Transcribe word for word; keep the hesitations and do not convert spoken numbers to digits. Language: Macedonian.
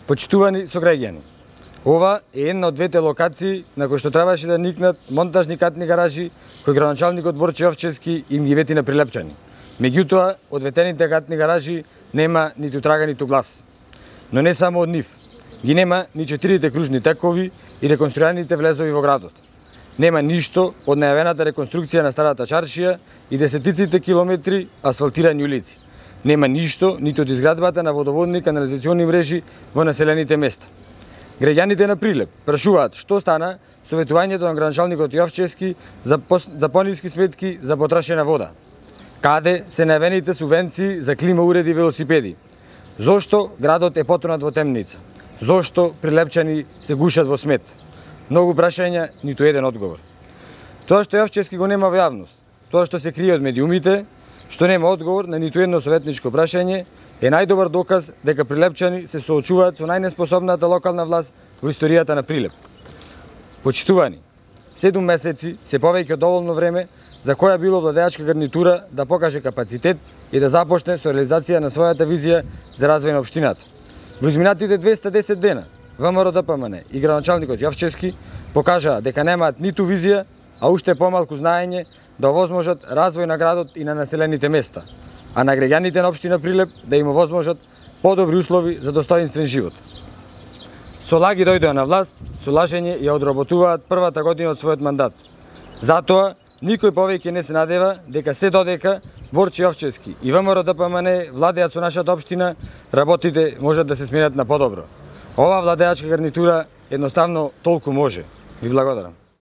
Почитувани сограѓани, ова е една од двете локации на кои што требаше да никнат монтажни катни гаражи кои градоначалникот Борче Јовчевски им ги вети на Прилепчани. Меѓутоа, од ветените катни гаражи нема ниту трага ниту глас. Но не само од нив. Ги нема ни четирите кружни текови и реконструираните влезови во градот. Нема ништо од најавената реконструкција на старата чаршија и десетиците километри асфалтирани улици. Нема ништо ниту од изградбата на водоводни канализациони мрежи во населените места. Граѓаните на Прилеп прашуваат што стана со ветувањето на градоначалникот Јовчевски за, за пониски сметки за потрошена вода. Каде се најавените субвенции за клима уреди и велосипеди? Зошто градот е потонат во темница? Зошто прилепчани се гушат во смет? Многу прашања, ниту еден одговор. Тоа што Јовчевски го нема во јавност, тоа што се крие од медиумите, што нема одговор на ниту едно советничко прашање, е најдобар доказ дека прилепчани се соочуваат со најнеспособната локална власт во историјата на Прилеп. Почитувани, седум месеци се повеќе од доволно време за која било владеачка гарнитура да покаже капацитет и да започне со реализација на својата визија за развој на општината. Во изминатите двеста и десет дена, ВМРО-ДПМН и градоначалникот Јовчевски покажаа дека немаат ниту визија, а уште помалку знаење да овозможат развој на градот и на населените места, а на граѓаните на општина Прилеп да им овозможат подобри услови за достоинствен живот. Со лаги дојдоа на власт, со лажење ја одработуваат првата година од својот мандат. Затоа, никој повеќе не се надева дека се додека Борче Јовчевски и ВМРО-ДПМН владеат со нашата општина, работите можат да се сменат на подобро. Ова владеачка гарнитура едноставно толку може. Ви благодарам.